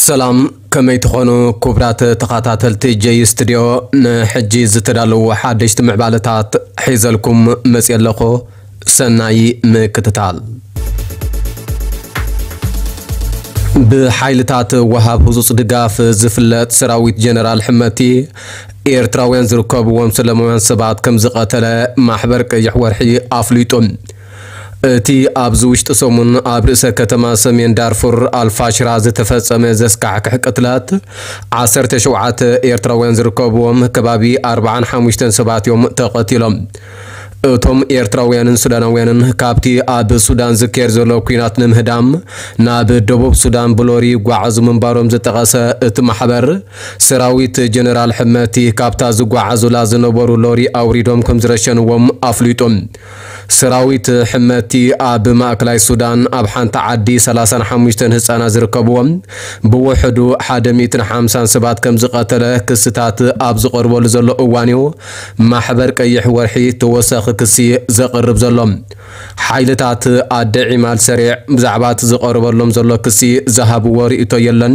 ሰላም፣ ከመይ ትኾኑ ክቡራት ተኸታተልቲ ጀይ ስቱድዮ? ንሕጂ ዝተዳለዉ ሓደሽቲ ምዕባለታት ሒዘልኩም መፅየ ኣለኹ። ሰናይ ምክትታል። ብሓይልታት ወሃብ ህጹጽ ድጋፍ ዝፍለጥ ሰራዊት ጀነራል ሕመቲ፣ ኤርትራውያን ዝርከብዎም ሰላማውያን ሰባት ከም ዝቐተለ ማሕበር ቀይሕ ወርሒ ኣፍሊጡ። እቲ ኣብዚ ውሽጢ ሰሙን ኣብ ርእሰ ከተማ ሰሜን ዳርፉር ኣልፋሽራ ዝተፈጸመ ዘስካሕክሕ ቅትለት፣ ዓሰርተ ሸውዓተ ኤርትራውያን ዝርከብዎም ከባቢ ኣርባዓን ሓሙሽተን ሰባት እዮም ተቐቲሎም። እቶም ኤርትራውያንን ሱዳናውያንን ካብቲ ኣብ ሱዳን ዝካየድ ዘሎ ኲናት ንምህዳም ናብ ደቡብ ሱዳን ብሎሪ ይጓዓዙ ምንባሮም ዝጠቐሰ እቲ ማሕበር፣ ሰራዊት ጀነራል ሕመቲ ካብታ ዝጓዓዙላ ዝነበሩ ሎሪ ኣውሪዶም ከም ዝረሸንዎም ኣፍሊጡ። ሰራዊት ሕመቲ ኣብ ማእከላይ ሱዳን ኣብ ሓንቲ ዓዲ ሰላሳን ሓሙሽተን ህጻናት ዝርከብዎም ብውሕዱ ሓደ ሚእትን ሓምሳን ሰባት ከም ዝቐተለ ክስታት ኣብ ዝቐርበሉ ዘሎ እዋን እዩ ማሕበር ቀይሕ ወርሒ ተወሳኺ ክሲ ዘቕርብ ዘሎ። ሓይልታት ኣደ ዒማል ሰሪዕ ብዛዕባ እቲ ዝቐርበሎም ዘሎ ክሲ ዝሃብዎ ርእይቶ የለን።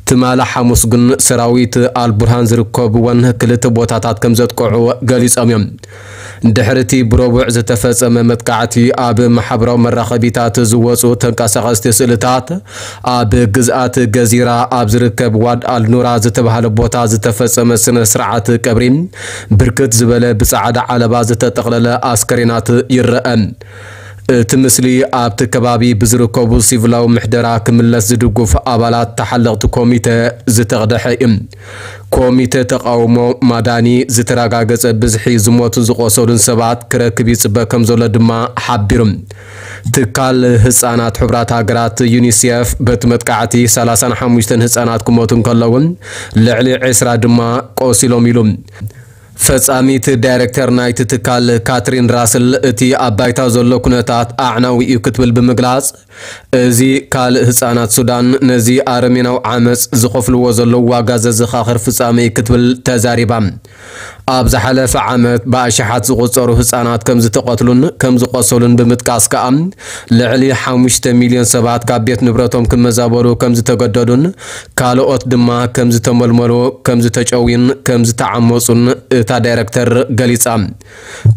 ትማሊ ሓሙስ ግን ሰራዊት ኣልቡርሃን ዝርከብወን ክልተ ቦታታት ከም ዘጥቅዑ ገሊጾም እዮም። ድሕሪ እቲ ብረቡዕ ዝተፈጸመ መጥቃዕቲ ኣብ ማሕበራዊ መራኸቢታት ዝወጹ ተንቀሳቐስቲ ስእልታት፣ ኣብ ግዝኣት ገዚራ ኣብ ዝርከብ ዋድ ኣልኑራ ዝተባህለ ቦታ ዝተፈጸመ ስነ ስርዓት ቀብሪ፣ ብርክት ዝበለ ብጻዕዳ ዓለባ ዝተጠቕለለ ኣስከሬናት ይረአ። እቲ ምስሊ ኣብቲ ከባቢ ብዝርከቡ ሲቪላዊ ምሕደራ ክምለስ ዝድግፉ ኣባላት ተሓለቕቲ ኮሚተ ዝተቕደሐ እዩ። ኮሚተ ተቃውሞ ማዳኒ ዝተረጋገጸ ብዝሒ ዝሞቱን ዝቆሰሉን ሰባት ክረክብ ይጽበ ከም ዘሎ ድማ ሓቢሩ። ትካል ህጻናት ሕቡራት ሃገራት ዩኒሴፍ በቲ መጥቃዕቲ ሰላሳን ሓሙሽተን ህጻናት ክሞቱ እንከለውን ልዕሊ ዕስራ ድማ ቆሲሎም ኢሉ። ፈጻሚት ዳይሬክተር ናይቲ ትካል ካትሪን ራስል እቲ ኣብ ባይታ ዘሎ ኩነታት ኣዕናዊ እዩ ክትብል ብምግላጽ፣ እዚ ካልእ ህጻናት ሱዳን ነዚ ኣረሜናዊ ዓመጽ ዝኸፍልዎ ዘለዉ ዋጋ ዘዘኻኽር ፍጻመ እዩ ክትብል ተዛሪባ። ኣብ ዝሓለፈ ዓመት ብኣሽሓት ዝቑጸሩ ህጻናት ከም ዝተቐትሉን ከም ዝቆሰሉን ብምጥቃስ ከኣ፣ ልዕሊ ሓሙሽተ ሚልዮን ሰባት ካብ ቤት ንብረቶም ክመዛበሉ ከም ዝተገደዱን ካልኦት ድማ ከም ዝተመልመሉ፣ ከም ዝተጨውዩን ከም ዝተዓመጹን እታ ዳይረክተር ገሊጻ።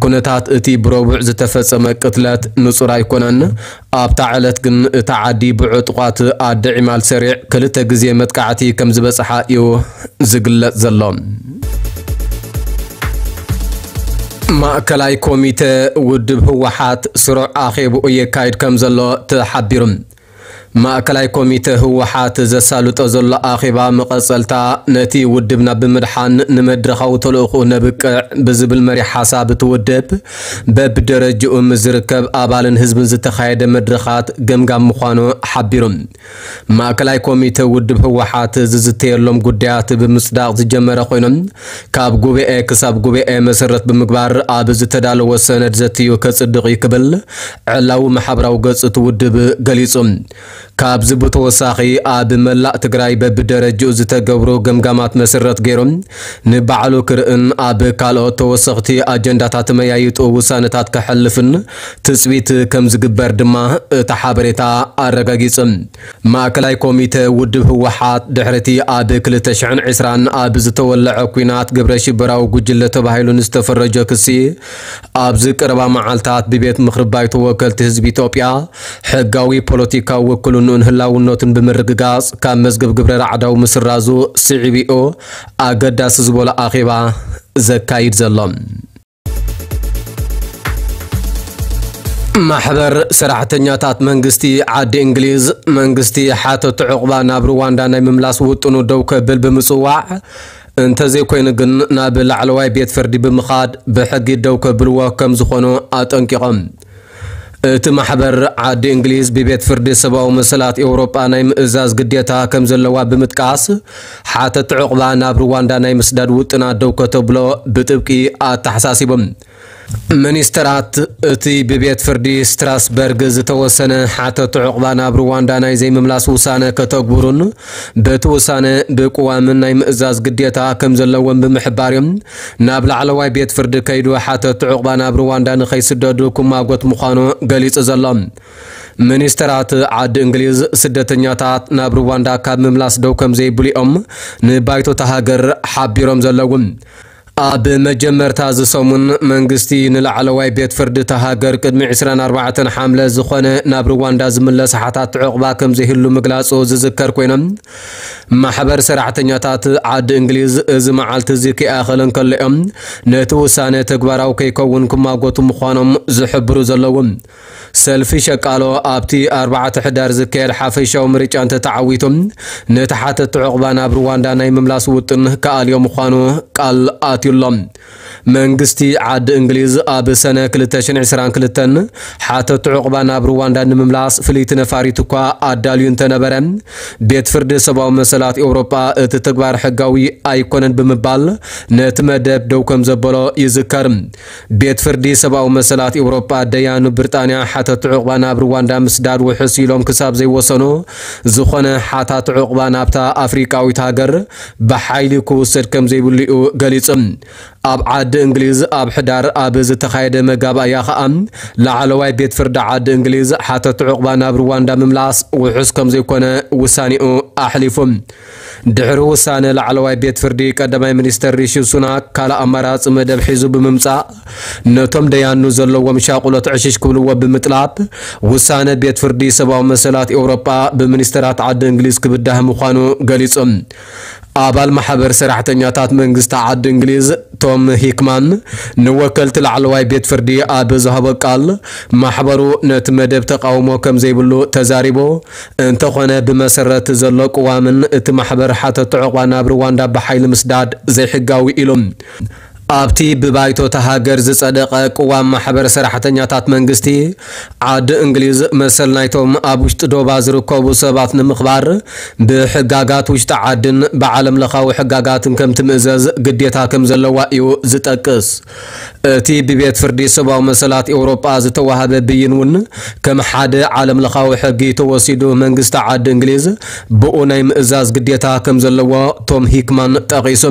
ኩነታት እቲ ብረቡዕ ዝተፈጸመ ቅትለት ንጹር ኣይኮነን። ኣብታ ዕለት ግን እታ ዓዲ ብዕጡቓት ኣደ ዒማል ሰሪዕ ክልተ ግዜ መጥቃዕቲ ከም ዝበጽሓ እዩ ዝግለጽ ዘሎ። ማእከላይ ኮሚተ ውድብ ህወሓት ስሩዕ ኣኼብኡ የካይድ ከም ዘሎ ተሓቢሩ። ማእከላይ ኮሚተ ህወሓት ዘሳልጦ ዘሎ ኣኼባ መቐጸልታ ነቲ ውድብና ብምድሓን ንመድረኻዊ ተልእኾኡ ነብቅዕ ብዝብል መሪሕ ሓሳብ እቲ ውድብ በብደረጅኡ ምስ ዝርከብ ኣባልን ህዝብን ዝተኻየደ መድረኻት ገምጋም ምዃኑ ሓቢሩ። ማእከላይ ኮሚተ ውድብ ህወሓት ዝዝተየሎም ጉዳያት ብምጽዳቕ ዝጀመረ ኮይኖም፣ ካብ ጉባኤ ክሳብ ጉባኤ መሰረት ብምግባር ኣብ ዝተዳለወ ሰነድ ዘትዩ ከጽድቕ እዩ ክብል ዕላዊ ማሕበራዊ ገጽ እቲ ውድብ ገሊጹ። ካብዚ ብተወሳኺ ኣብ መላእ ትግራይ በብደረጅኡ ዝተገብሩ ገምጋማት መሰረት ገይሩ ንባዕሉ ክርእን ኣብ ካልኦት ተወሰኽቲ ኣጀንዳታት ተመያይጡ ውሳነታት ከሕልፍን ትጽቢት ከም ዝግበር ድማ እቲ ሓበሬታ ኣረጋጊጹ። ማእከላይ ኮሚተ ውድብ ህወሓት ድሕሪ እቲ ኣብ ክልተ ሽሕን ዕስራን ኣብ ዝተወለዐ ኲናት ግብረ ሽበራዊ ጉጅለ ተባሂሉ ንዝተፈረጀ ክሲ ኣብዚ ቀረባ መዓልታት ብቤት ምኽሪ ባይቶ ወከልቲ ህዝቢ ኢትዮጵያ ሕጋዊ ፖለቲካዊ ውክልንኡን ህላውነቱን ብምርግጋጽ ካብ መዝገብ ግብረ ራዕዳዊ ምስራዙ ስዒቡ እዩ ኣገዳሲ ዝበሎ ኣኼባ ዘካይድ ዘሎ። ማሕበር ሰራሕተኛታት መንግስቲ ዓዲ እንግሊዝ፣ መንግስቲ ሓተቲ ዑቕባ ናብ ሩዋንዳ ናይ ምምላስ ውጥኑ ደው ከብል ብምጽዋዕ፣ እንተዘይኮይኑ ግን ናብ ላዕለዋይ ቤት ፍርዲ ብምኻድ ብሕጊ ደው ከብልዎ ከም ዝኾኑ ኣጠንቂቖም። እቲ ማሕበር ዓዲ እንግሊዝ ብቤት ፍርዲ ሰብኣዊ መሰላት ኤውሮጳ ናይ ምእዛዝ ግዴታ ከም ዘለዋ ብምጥቃስ፣ ሓተቲ ዑቕባ ናብ ሩዋንዳ ናይ ምስዳድ ውጥና ደው ከተብሎ ብጥብቂ ኣተሓሳሲቦም። ሚኒስተራት እቲ ብቤት ፍርዲ ስትራስበርግ ዝተወሰነ ሓተቲ ዑቕባ ናብ ሩዋንዳ ናይ ዘይምምላስ ውሳነ ከተግብሩን በቲ ውሳነ ብቅዋምን ናይ ምእዛዝ ግዴታ ከም ዘለዎም ብምሕባር እዮም ናብ ላዕለዋይ ቤት ፍርዲ ከይዱ ሓተቲ ዑቕባ ናብ ሩዋንዳ ንኸይስደዱ ክማጎት ምዃኑ ገሊጹ ዘሎ። ሚኒስተራት ዓዲ እንግሊዝ ስደተኛታት ናብ ሩዋንዳ ካብ ምምላስ ደው ከም ዘይብሉ እዮም ንባይቶታ ሃገር ሓቢሮም ዘለዉ። ኣብ መጀመርታ እዚ ሰሙን መንግስቲ ንላዕለዋይ ቤት ፍርዲ እታ ሃገር ቅድሚ ዕስራን ኣርባዕተን ሓምለ ዝኾነ ናብ ሩዋንዳ ዝምለስ ሓታት ዕቑባ ከም ዘይህሉ ምግላጹ ዝዝከር ኮይኖም፣ ማሕበር ሰራሕተኛታት ዓዲ እንግሊዝ እዚ መዓልቲ እዚ ከይኣኸለ እንከሎ እዮም ነቲ ውሳነ ተግባራዊ ከይከውን ክማጎቱ ምዃኖም ዝሕብሩ ዘለዉ። ሰልፊ ሸቃሎ ኣብቲ ኣርባዕተ ሕዳር ዝካየድ ሓፈሻዊ ምርጫ እንተተዓዊቱ፣ ነቲ ሓተቲ ዕቑባ ናብ ሩዋንዳ ናይ ምምላስ ውጥን ክኣልዮ ምዃኑ ቃል ኣትዩሎም። መንግስቲ ዓዲ እንግሊዝ ኣብ ሰነ ክልተ ሽሕን ዕስራን ክልተን ሓተቲ ዕቑባ ናብ ሩዋንዳ ንምምላስ ፍልይቲ ነፋሪት እኳ ኣዳልዩ እንተነበረ፣ ቤት ፍርዲ ሰብኣዊ መሰላት ኤውሮጳ እቲ ተግባር ሕጋዊ ኣይኮነን ብምባል ነቲ መደብ ደው ከም ዘበሎ ይዝከር። ቤት ፍርዲ ሰብኣዊ መሰላት ኤውሮጳ ደያኑ ብሪጣንያ ሓተቲ ዕቑባ ናብ ሩዋንዳ ምስዳድ ውሑስ ኢሎም ክሳብ ዘይወሰኑ፣ ዝኾነ ሓታት ዕቑባ ናብታ ኣፍሪቃዊት ሃገር ብሓይሊ ክውሰድ ከም ዘይብሉ እዩ ገሊጹ። ኣብ ዓዲ እንግሊዝ ኣብ ሕዳር ኣብ ዝተኻየደ መጋባእያ ኸኣ ላዕለዋይ ቤት ፍርዲ ዓዲ እንግሊዝ ሓተቲ ዕቑባ ናብ ሩዋንዳ ምምላስ ውሑስ ከም ዘይኮነ ውሳኔኡ ኣሕሊፉ። ድሕሪ ውሳነ ላዕለዋይ ቤት ፍርዲ ቀዳማይ ሚኒስተር ሪሺ ሱናክ ካልእ ኣማራጺ መደብ ሒዙ ብምምጻእ ነቶም ደያኑ ዘለዎም ሻቑሎት ዕሽሽ ክብልዎ ብምጥላብ ውሳነ ቤት ፍርዲ ሰብኣዊ መሰላት ኤውሮጳ ብሚኒስተራት ዓዲ እንግሊዝ ክብዳህ ምዃኑ ገሊጹ። ኣባል ማሕበር ሰራሕተኛታት መንግስቲ ዓዲ እንግሊዝ ቶም ሂክማን ንወከልቲ ላዕለዋይ ቤት ፍርዲ ኣብ ዝሃቦ ቃል ማሕበሩ ነቲ መደብ ተቃውሞ ከም ዘይብሉ ተዛሪቡ። እንተኾነ ብመሰረት ዘሎ ቅዋምን እቲ ማሕበር ሓተቲ ዕቑባ ናብ ሩዋንዳ ብሓይሊ ምስዳድ ዘይሕጋዊ ኢሉ። ኣብቲ ብባይቶ እታ ሃገር ዝጸደቐ ቅዋም ማሕበር ሰራሕተኛታት መንግስቲ ዓዲ እንግሊዝ መሰል ናይቶም ኣብ ውሽጢ ዶባ ዝርከቡ ሰባት ንምኽባር ብሕጋጋት ውሽጢ ዓድን ብዓለም ለኻዊ ሕጋጋትን ከም ትምእዘዝ ግዴታ ከም ዘለዋ እዩ ዝጠቅስ። እቲ ብቤት ፍርዲ ሰብኣዊ መሰላት ኤውሮጳ ዝተዋህበ ብይን እውን ከም ሓደ ዓለም ለኻዊ ሕጊ ተወሲዱ መንግስቲ ዓዲ እንግሊዝ ብኡ ናይ ምእዛዝ ግዴታ ከም ዘለዎ ቶም ሂክማን ጠቒሱ።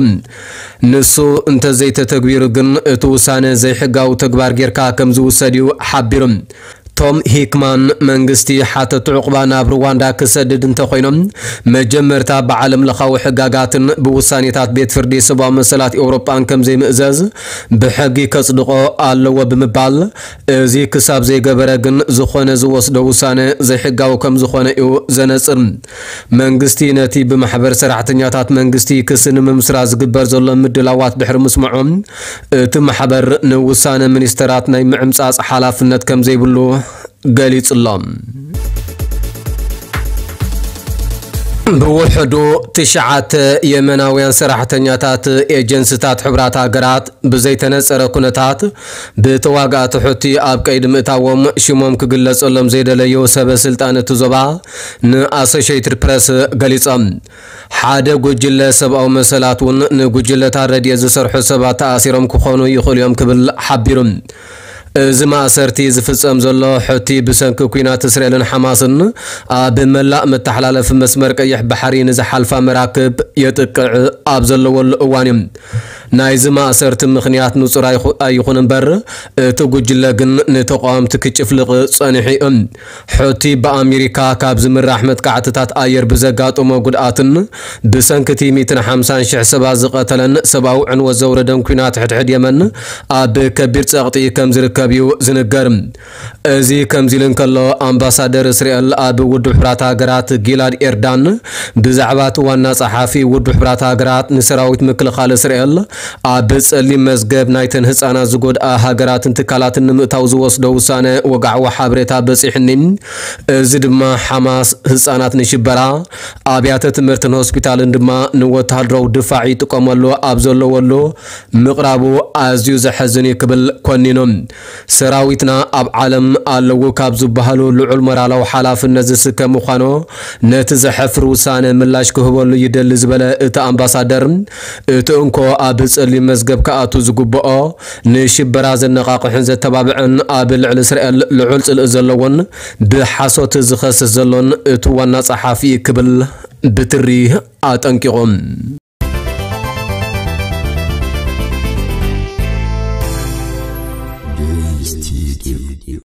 ንሱ እንተዘይተተግቢሩ ግን እቲ ውሳነ ዘይሕጋዊ ተግባር ጌርካ ከም ዝውሰድ እዩ ሓቢሩ። ቶም ሂክማን መንግስቲ ሓተቲ ዕቑባ ናብ ሩዋንዳ ክሰድድ እንተኾይኖም መጀመርታ ብዓለም ለኻዊ ሕጋጋትን ብውሳኔታት ቤት ፍርዲ ሰብኣዊ መሰላት ኤውሮጳን ከም ዘይምእዘዝ ብሕጊ ከጽድቖ ኣለዎ ብምባል እዚ ክሳብ ዘይገበረ ግን ዝኾነ ዝወስዶ ውሳነ ዘይሕጋዊ ከም ዝኾነ እዩ ዘነጽር። መንግስቲ ነቲ ብማሕበር ሰራሕተኛታት መንግስቲ ክሲ ንምምስራት ዝግበር ዘሎ ምድላዋት ድሕሪ ምስምዖም እቲ ማሕበር ንውሳነ ሚኒስተራት ናይ ምዕምጻጽ ሓላፍነት ከም ዘይብሉ ገሊጹ ኣሎ። ብውሕዱ ትሽዓተ የመናውያን ሰራሕተኛታት ኤጀንስታት ሕቡራት ሃገራት ብዘይተነጸረ ኩነታት ብተዋጋእቲ ሑቲ ኣብ ቀይዲ ምእታዎም ሽሞም ክግለጸሎም ዘይደለዩ ሰበ ስልጣን እቲ ዞባ ንኣሶሽየትድ ፕረስ ገሊጾም። ሓደ ጉጅለ ሰብኣዊ መሰላት እውን ንጉጅለታት ረድኤት ዝሰርሑ ሰባት ተኣሲሮም ክኾኑ ይኽእሉ እዮም ክብል ሓቢሩ። እዚ ማእሰርቲ ዝፍጸም ዘሎ ሑቲ ብሰንኪ ኲናት እስራኤልን ሓማስን ኣብ መላእ መተሓላለፊ መስመር ቀይሕ ባሕሪ ንዝሓልፋ መራክብ የጥቅዕ ኣብ ዘለወሉ እዋን እዩ። ናይዚ ማእሰርቲ ምኽንያት ንጹር ኣይኹ-፣ ኣይኹን እምበር፣ እቲ ጉጅለ ግን ንተቃወምቲ ክጭፍልቕ ጸኒሑ እዩ። ሑቲ ብኣሜሪካ ካብ ዝምራሕ መጥቃዕትታት ኣየር ብዘጋጠሞ ጉድኣትን ብሰንኪ እቲ ሚእትን ሓምሳን ሽሕ ሰባት ዝቐተለን ሰብኣዊ ዕንወት ዘውረደን ኲናት ሕድሕድ የመን ኣብ ከቢድ ጸቕጢ ከም ዝርከብ እዩ ዝንገር። እዚ ከምዚ ኢሉ እንከሎ፣ ኣምባሳደር እስራኤል ኣብ ውድብ ሕቡራት ሃገራት ጊላድ ኤርዳን ብዛዕባ እቲ ዋና ጸሓፊ ውድብ ሕቡራት ሃገራት ንሰራዊት ምክልኻል እስራኤል ኣብ ጸሊም መዝገብ ናይተን ህጻናት ዝጎድኣ ሃገራትን ትካላትን ንምእታው ዝወስዶ ውሳነ ወግዓዊ ሓበሬታ በጺሕኒ። እዚ ድማ ሓማስ ህጻናት ንሽበራ፣ ኣብያተ ትምህርትን ሆስፒታልን ድማ ንወተሃደራዊ ድፋዕ ይጥቀመሉ ኣብ ዘለወሉ ምቕራቡ ኣዝዩ ዘሐዝን እዩ ክብል ኮኒኑ። ሰራዊትና ኣብ ዓለም ኣለዉ ካብ ዝበሃሉ ልዑል ሞራላዊ ሓላፍነት ዝስከም ምዃኑ ነቲ ዘሕፍር ውሳነ ምላሽ ክህበሉ ይደሊ ዝበለ እቲ ኣምባሳደር፣ እቲ እንኮ ኣብ ጸሊም መዝገብ ክኣቱ ዝግብኦ ንሽበራ ዘነቓቕሕን ዘተባብዕን ኣብ ልዕሊ እስራኤል ልዑል ጽልኢ ዘለዎን ብሓሶት ዝኸስስ ዘሎን እቲ ዋና ጸሓፊ ክብል ብትሪ ኣጠንቂቑ።